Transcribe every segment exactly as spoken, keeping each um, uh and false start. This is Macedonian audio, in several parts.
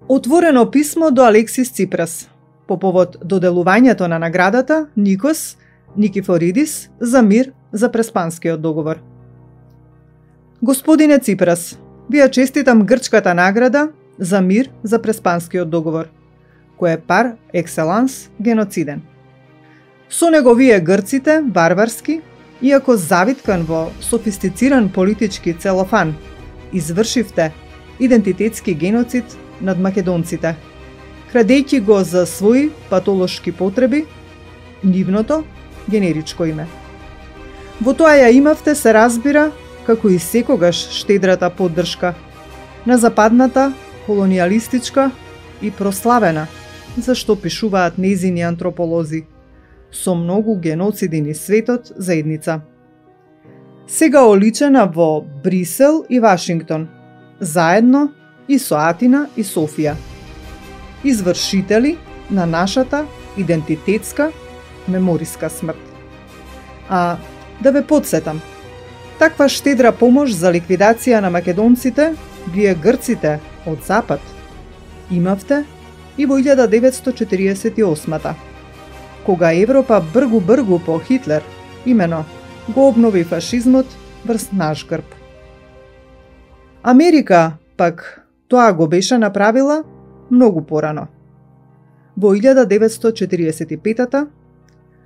Отворено писмо до Алексис Ципрас по повод доделувањето на наградата Никос Никифоридис за мир за Преспанскиот договор. Господине Ципрас, ви ја честитам грчката награда за мир за Преспанскиот договор, кој е пар екселанс геноциден. Со него вие грците, варварски, иако завиткан во софистициран политички целофан, извршивте идентитетски геноцид над македонците, крадејќи го за своји патолошки потреби нивното генеричко име. Во тоа ја имавте, се разбира, како и секогаш штедрата поддршка на западната, колониалистичка и прославена, зашто пишуваат незини антрополози, со многу геноциди низ светот заедница. Сега оличена во Брисел и Вашингтон, заедно и со Атина и Софија. Извршители на нашата идентитетска мемориска смрт. А да ве подсетам, таква штедра помош за ликвидација на македонците, вие грците од Запад, имавте и во илјада деветстотини четириесет и осма, кога Европа бргу-бргу по Хитлер, имено, го обнови фашизмот врз наш грб. Америка, пак, тоа го беше направила многу порано. Во илјада деветстотини четириесет и пета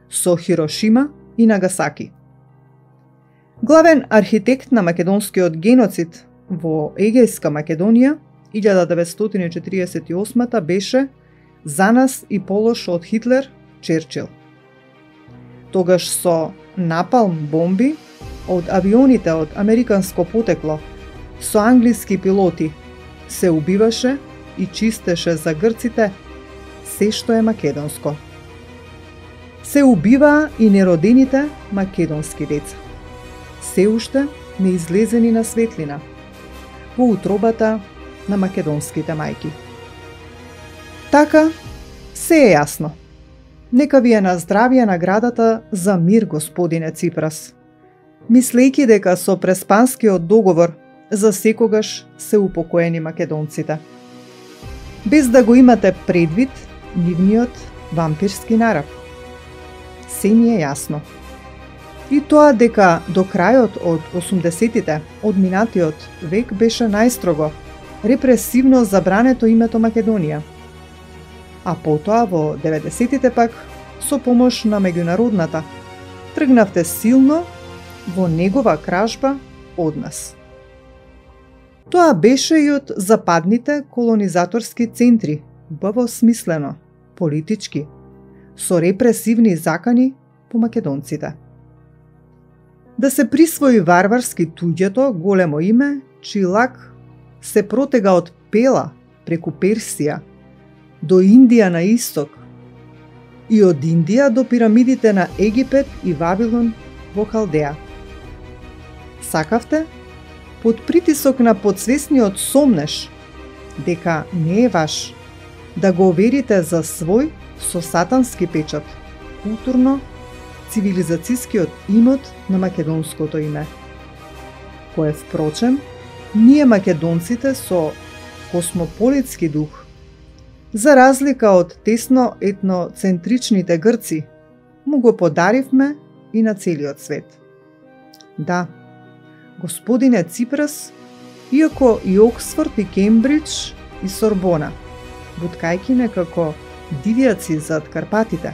со Хирошима и Нагасаки. Главен архитект на македонскиот геноцид во Егејска Македонија илјада деветстотини четириесет и осма беше за нас и полош од Хитлер Черчил. Тогаш со напалм бомби од авионите од американско потекло со англиски пилоти се убиваше и чистеше за грците се што е македонско. Се убиваа и неродените македонски деца, се уште не излезени на светлина во утробата на македонските мајки. Така, се е јасно. Нека ви е на здравје наградата за мир, господине Ципрас, мислејќи дека со Преспанскиот договор за секогаш се упокоени македонците, без да го имате предвид нивниот вампирски нарав. Се ни е јасно. И тоа дека до крајот од осумдесетите од минатиот век беше најстрого, репресивно забрането името Македонија. А потоа во деветдесетите пак, со помош на меѓународната, тргнавте силно во негова кражба од нас. Тоа беше и од западните колонизаторски центри, убаво смислено, политички, со репресивни закани по македонците. Да се присвои варварски туѓето големо име, чиј лак се протега од Пела преку Персија до Индија на исток и од Индија до пирамидите на Египет и Вавилон во Халдеја. Сакавте, под притисок на подсвесниот сомнеш, дека не е ваш, да го оверите за свој со сатански печат, културно, цивилизацијскиот имот на македонското име, кое впрочем, ние македонците со космополитски дух, за разлика од тесно етноцентричните грци, му го подаривме и на целиот свет. Да, господине Ципрас, иако и Оксфорд и Кембридж и Сорбона, буткајки некако дивјаци зад Карпатите,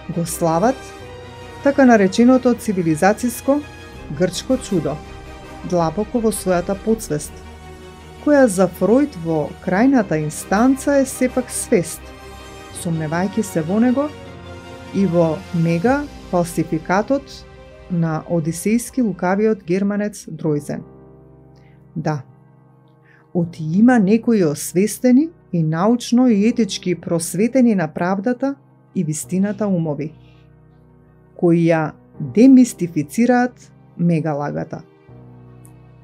го слават така нареченото цивилизацијско грчко чудо, длабоко во својата подсвест, која за Фројд во крајната инстанца е сепак свест, сомневајќи се во него и во мега фалсификатот на одисејски лукавиот германец Дројзен. Да, оти има некои освестени и научно и етички просветени на правдата и вистината умови, кои ја демистифицираат мегалагата.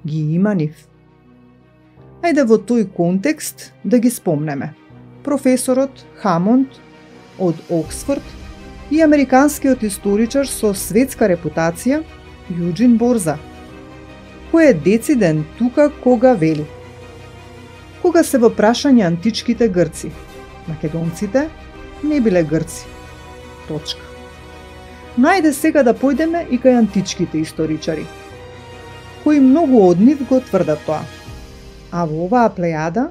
Ги има нив. Ајде во тој контекст да ги спомнеме. Професорот Хамонд од Оксфорд и американскиот историчар со светска репутација Јуџин Борза, кој е дециден тука кога вели: Кога се во прашање античките грци, македонците не биле грци. Точка. Но ајде сега да појдеме и кај античките историчари, кои многу од нив го тврдат тоа. А во оваа плејада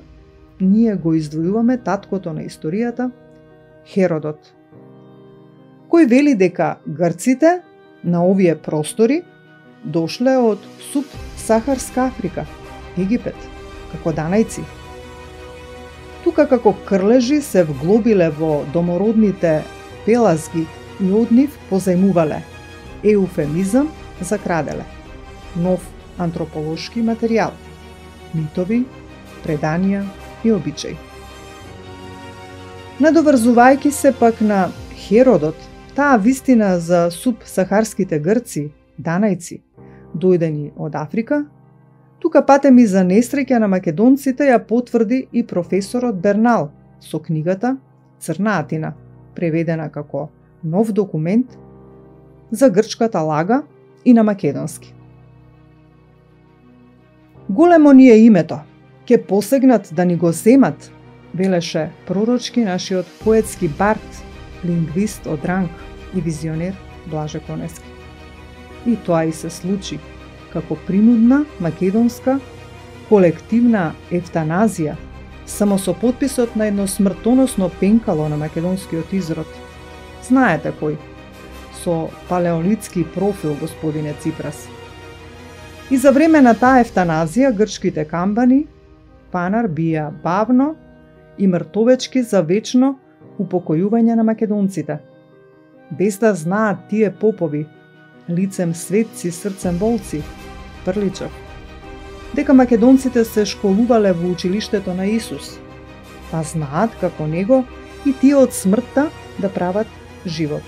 ние го издвојуваме таткото на историјата, Херодот, кој вели дека грците на овие простори дошле од субсахарска Африка, Египет, како данајци. Тука како крлежи се вглобиле во домородните пелазги и од нив позајмувале, еуфемизам за краделе, нов антрополошки материјал, митови, преданија и обичаи. Надоврзувајќи се пак на Херодот, таа вистина за субсахарските грци, данајци, дојдени од Африка, тука патеми за несреќа на македонците ја потврди и професорот Бернал со книгата Црна Атина, преведена како нов документ за грчката лага и на македонски. Големо ни е името, ке посегнат да ни го земат, велеше пророчки нашиот поетски бард, лингвист од ранг и визионер Блаже Конески. И тоа и се случи, како принудна македонска колективна ефтаназија, само со потписот на едно смртоносно пенкало на македонскиот изрод. Знаете кој? Со палеолитски профил, господине Ципрас. И за време на таа ефтаназија грчките камбани панар бија бавно и мртовечки за вечно упокојување на македонците. Без да знаат тие попови, лицем светци, срцем волци, Прличев, дека македонците се школувале во училиштето на Исус, па знаат како него и тие од смртта да прават живот.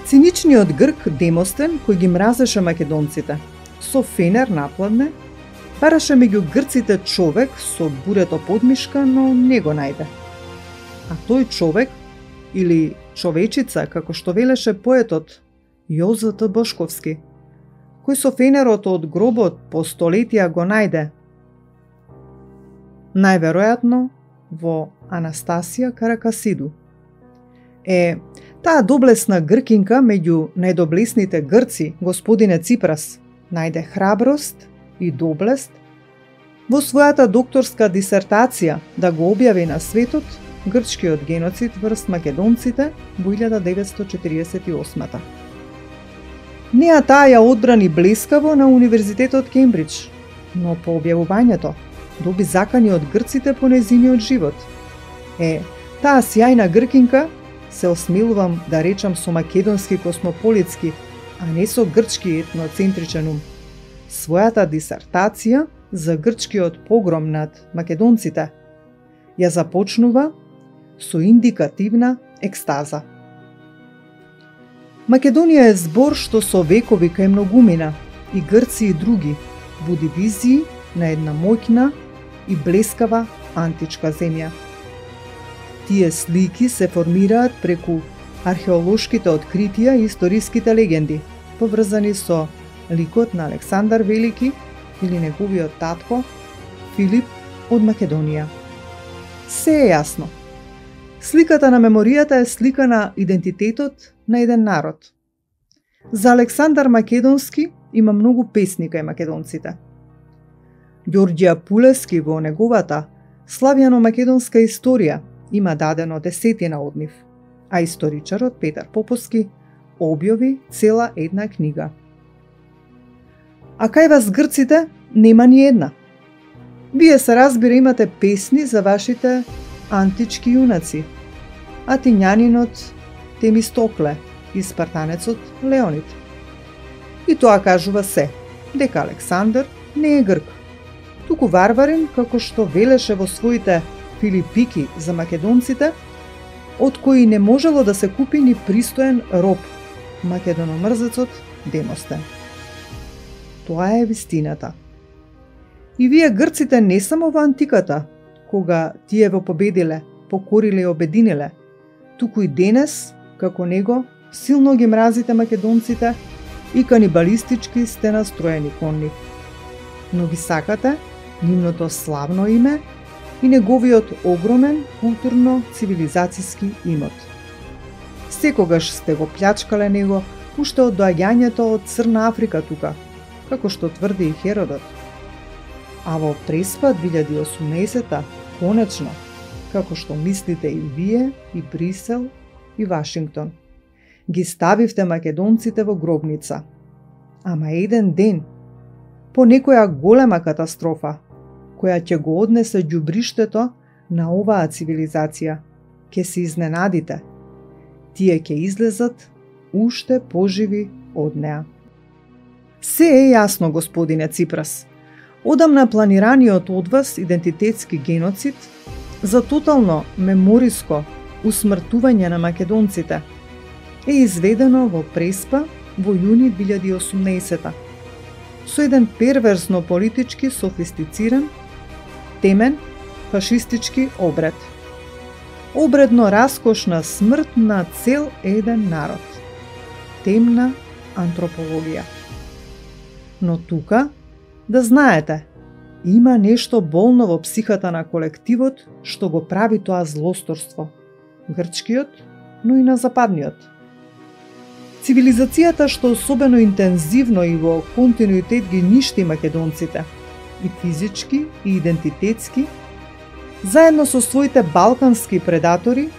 Циничниот грк Демостен, кој ги мразеше македонците, со фенер напладне, бараше меѓу грците човек со бурето подмишка, но не го најде. А тој човек, или човечица, како што велеше поетот Јозеф Бошковски, кој со фенерот од гробот по столетија го најде, најверојатно во Анастасија Каракасиду. Е, таа доблесна гркинка меѓу најдоблесните грци, господине Ципрас, најде храброст и доблест во својата докторска дисертација да го објави на светот грчкиот геноцид врз македонците во илјада деветстотини четириесет и осма. Неа таа ја одбрани блескаво на Универзитетот Кембридж, но по објавувањето доби закани од грците по нејзиниот живот. Е, таа сјајна гркинка, се осмелувам да речам со македонски космополитски, а не со грчки етноцентричен ум, својата дисертација за грчкиот погром над македонците ја започнува со индикативна екстаза. Македонија е збор што со векови кај многумина, и грци и други, буди визии на една моќна и блескава античка земја. Тие слики се формираат преку археолошките откритија и историските легенди, поврзани со ликот на Александар Велики или неговиот татко Филип од Македонија. Се е јасно. Сликата на меморијата е слика на идентитетот на еден народ. За Александар Македонски има многу песни кај македонците. Ѓорѓија Пулески во неговата славјано-македонска историја има дадено десетина од нив, а историчарот Петар Поповски објави цела една книга. А кај вас грците нема ни една. Вие се разбира имате песни за вашите антички јунаци, атинјанинот Темистокле и спартанецот Леонид. И тоа кажува се, дека Александар не е грк, туку варварин, како што велеше во своите Филипики за македонците, од кои не можело да се купи ни пристоен роб, македономрзецот Демостен. Тоа е вистината. И вие грците не само во антиката, кога тие во победиле, покориле и обединиле, туку и денес, како него, силно ги мразите македонците и канибалистички сте настроени кон нив. Но ги сакате нивното славно име и неговиот огромен културно-цивилизацијски имот. Секогаш сте го плячкале него уште од доаѓањето од Црна Африка тука, како што тврди и Херодот. А во Преспа две илјади и осумнаесета, конечно, како што мислите и вие, и Брисел, и Вашингтон, ги ставивте македонците во гробница. Ама еден ден, по некоја голема катастрофа, која ќе го однесе ѓубриштето на оваа цивилизација, ќе се изненадите. Тие ќе излезат уште поживи од неа. Се е јасно, господине Ципрас. Одамна планираниот од вас идентитетски геноцид за тотално мемориско усмртување на македонците е изведено во Преспа во јуни две илјади и осумнаесета со еден перверзно политички софистициран, темен, фашистички обред. Обредно раскошна смрт на цел еден народ. Темна антропологија. Но тука, да знаете, има нешто болно во психата на колективот што го прави тоа злосторство. Грчкиот, но и на западниот. Цивилизацијата што особено интензивно и во континуитет ги ништи македонците, и физички, и идентитетски, заедно со своите балкански предатори,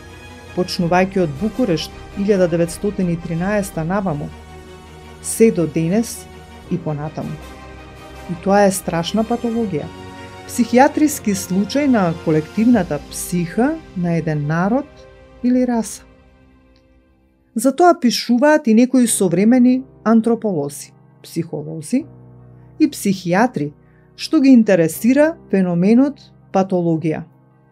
почнувајќи од Букурешт илјада деветстотини и тринаесета наваму, се до денес и понатаму. И тоа е страшна патологија. Психијатриски случај на колективната психа на еден народ или раса. Затоа пишуваат и некои современи антрополози, психолози и психијатри, што ги интересира феноменот патологија,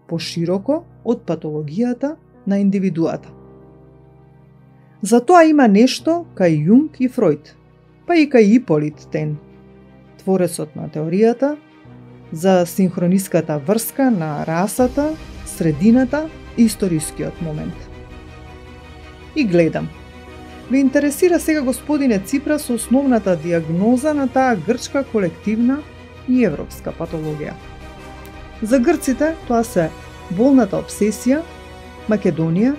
пошироко од патологијата на индивидуата. Затоа има нешто кај Јунг и Фројд, па и кај Иполит Тен, творецот на теоријата за синхрониската врска на расата, средината и историскиот момент. И гледам. Ве интересира сега, господине Ципрас, основната диагноза на таа грчка колективна и европска патологија. За грците тоа се болната обсесија, Македонија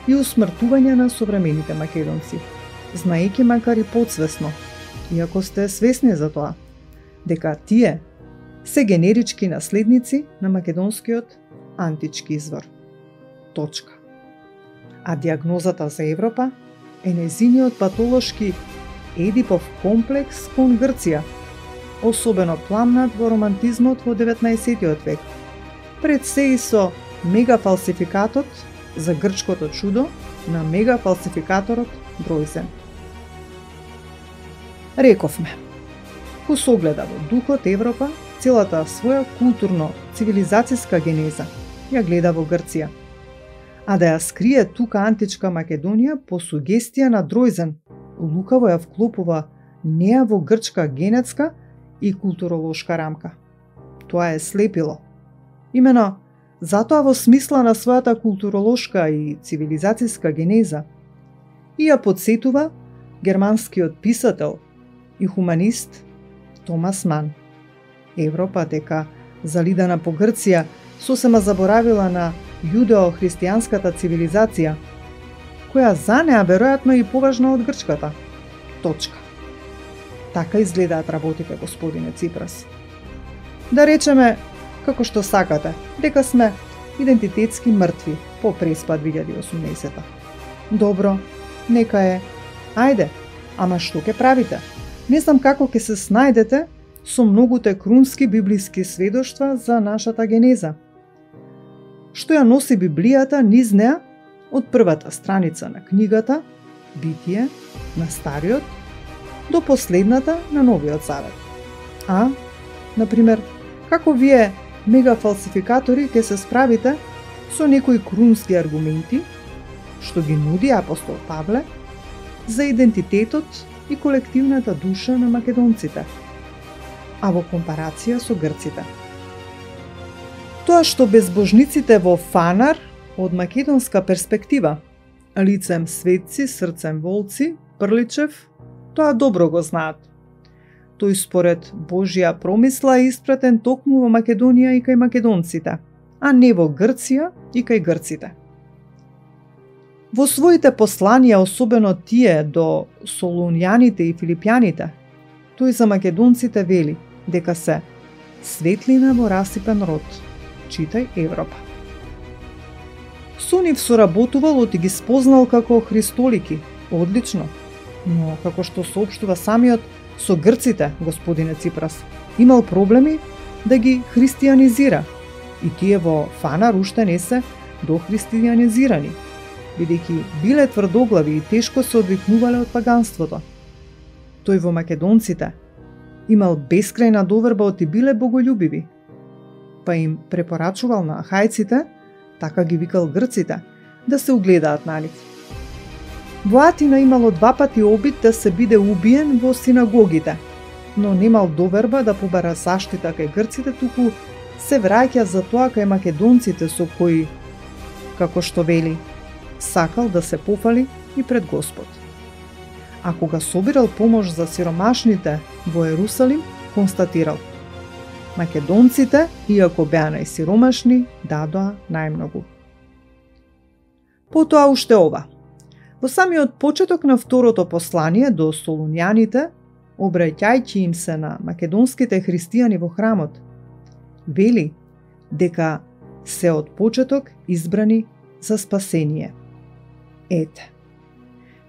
и усмртување на современите македонци, знаејќи макар и подсвесно, иако сте свесни за тоа, дека тие се генерички наследници на македонскиот антички извор. Точка. А диагнозата за Европа е незиниот патолошки Едипов комплекс кон Грција, особено пламнат во романтизмот во деветнаесеттиот век, пред се и со мегафалсификатот за грчкото чудо на мегафалсификаторот Бројзен. Рековме, ко согледа во духот Европа, целата своја културно-цивилизацијска генеза ја гледа во Грција, а да ја скрие тука античка Македонија по сугестија на Дройзен, лукаво ја вклопува неа во грчка генетска и културолошка рамка. Тоа е слепило. Имено, затоа во смисла на својата културолошка и цивилизацијска генеза и ја подсетува германскиот писател и хуманист Томас Ман. Европа дека залидана по Грција сосема заборавила на јудео-христијанската цивилизација, која за неа веројатно и поважна од грчката. Точка. Така изгледаат работите, господине Ципрас. Да речеме, како што сакате, дека сме идентитетски мртви по Преспа две илјади и осумнаесета. Добро, нека е. Ајде, ама што ќе правите? Не знам како ќе се снајдете со многуте крунски библиски сведоштва за нашата генеза. Што ја носи Библијата низ неа од првата страница на книгата, Битие, на Стариот, до последната на Новиот Завет. А, например, како вие мегафалсификатори ќе се справите со некои крунски аргументи, што ги нуди апостол Павле, за идентитетот и колективната душа на македонците, а во компарација со грците. Тоа што безбожниците во Фанар од македонска перспектива, лицем светци, срцем волци, Прличев, тоа добро го знаат. Тој според Божја промисла е испратен токму во Македонија и кај македонците, а не во Грција и кај грците. Во своите посланија, особено тие до Солунјаните и Филипјаните, тој за македонците вели дека се светлина во расипен род, читај Европа. Со нив соработувал и ги спознал како христолики, одлично, но како што соопштува самиот, со грците, господине Ципрас, имал проблеми да ги христијанизира, и тие во Фанар уште не се дохристијанизирани, бидејќи биле тврдоглави и тешко се одвикнувале од паганството. Тој во македонците имал бескрајна доверба и биле боголюбиви, па им препорачувал на ахајците, така ги викал грците, да се угледаат на нив. Во Атина имало два пати обид да се биде убиен во синагогите, но немал доверба да побара заштита кај грците, туку се враќа за тоа кај македонците со кои, како што вели, сакал да се пофали и пред Господ. А кога собирал помош за сиромашните во Ерусалим, констатирал: македонците, иако беа најсиромашни, дадоа најмногу. Потоа уште ова. Во самиот почеток на второто послание до Солунјаните, обраќајќи им се на македонските христијани во храмот, вели дека се од почеток избрани за спасение. Ете,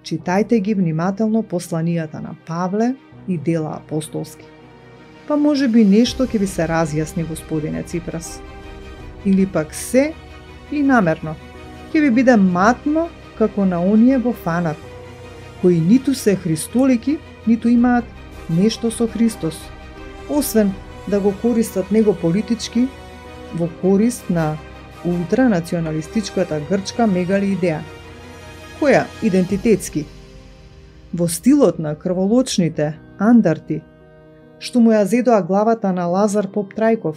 читајте ги внимателно посланијата на Павле и дела апостолски. Па може би нешто ќе ви се разјасни, господине Ципрас. Или пак се и намерно ќе ви биде матно како на оние во Фанар, кои ниту се христолики, ниту имаат нешто со Христос, освен да го користат него политички во корист на ултранационалистичката грчка мегали идеја, која идентитетски, во стилот на крволочните андарти, што му ја зедоа главата на Лазар Поп Трајков,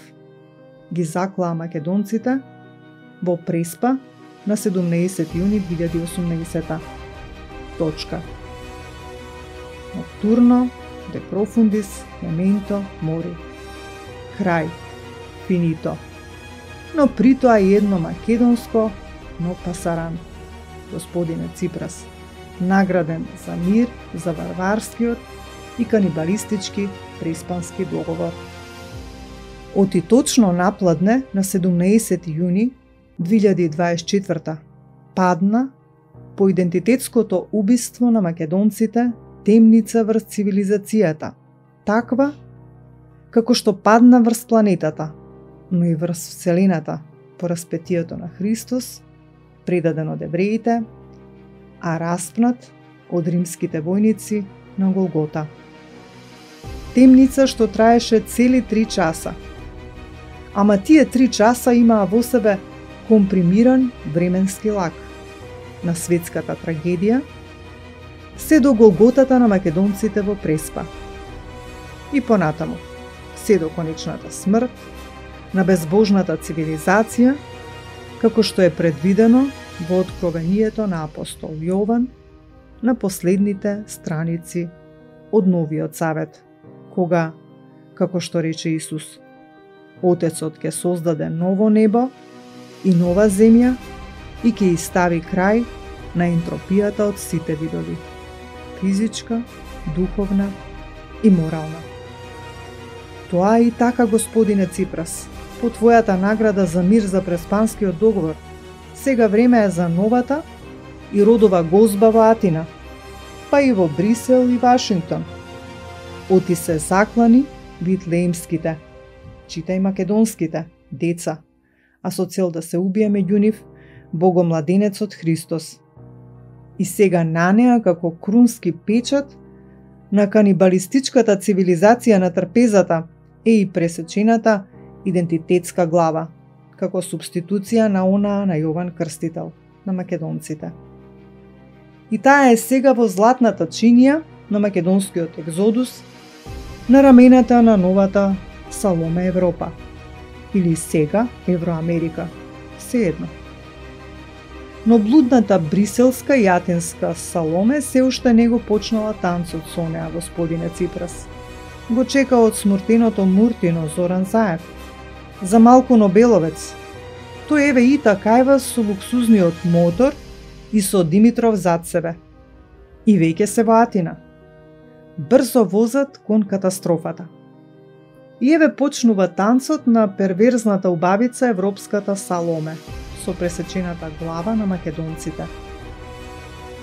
ги заклаа македонците во Преспа на седумнаесети јуни две илјади и осумнаесета. Точка. Ноктурно, де профундис, мементо, мори. Крај. Финито. Но при тоа и едно македонско, но пасаран. Господине Ципрас, награден за мир, за варварскиот и канибалистички преспански договор. Оти точно напладне на седумнаесети јуни две илјади и дваесет и четврта падна по идентитетското убиство на македонците темница врз цивилизацијата, таква како што падна врз планетата, но и врз вселената по распетието на Христос, предаден од евреите, а распнат од римските војници на Голгота. Темница што траеше цели три часа. Ама тие три часа имаа во себе компримиран временски лак на светската трагедија, се до Голготата на македонците во Преспа. И понатаму, се до конечната смрт на безбожната цивилизација, како што е предвидено во откровението на апостол Јован на последните страници од Новиот Завет, кога, како што рече Исус, Отецот ќе создаде ново небо и нова земја и ќе стави крај на ентропијата од сите видови, физичка, духовна и морална. Тоа е и така, господине Ципрас, по твојата награда за мир за преспанскиот договор. Сега време е за новата и родова гозба во Атина, па и во Брисел и Вашингтон. Оти се заклани витлеемските, читај македонските, деца, а со цел да се убие меѓу нив богомладенецот Христос. И сега на неа како крунски печат на канибалистичката цивилизација на трпезата е и пресечената идентитетска глава, како субституција на онаа на Јован Крстител, на македонците. И таа е сега во златната чинија на македонскиот екзодус, на рамената на новата Саломе Европа, или сега Евроамерика, сеедно. Но блудната бриселска и атинска Саломе се уште не го почнала танцот со неа, господине Ципрас. го чека од смуртеното Муртино Зоран Заев, за Малку Нобеловец. Тој еве и такајва со луксузниот мотор и со Димитров зад себе. И веќе се во Атина. Брзо возат кон катастрофата. И еве почнува танцот на перверзната убавица европската Саломе со пресечената глава на македонците.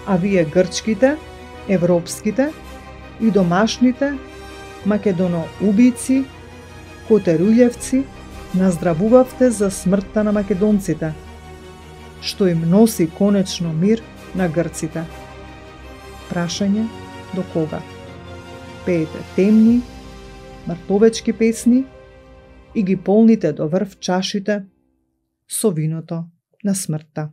А вие грчките, европските и домашните македоноубици, котеруљевци, наздравувавте за смртта на македонците, што им носи конечно мир на грците. Прашање до кога? Пеете темни, мртовечки песни и ги полните до врв чашите со виното на смртта.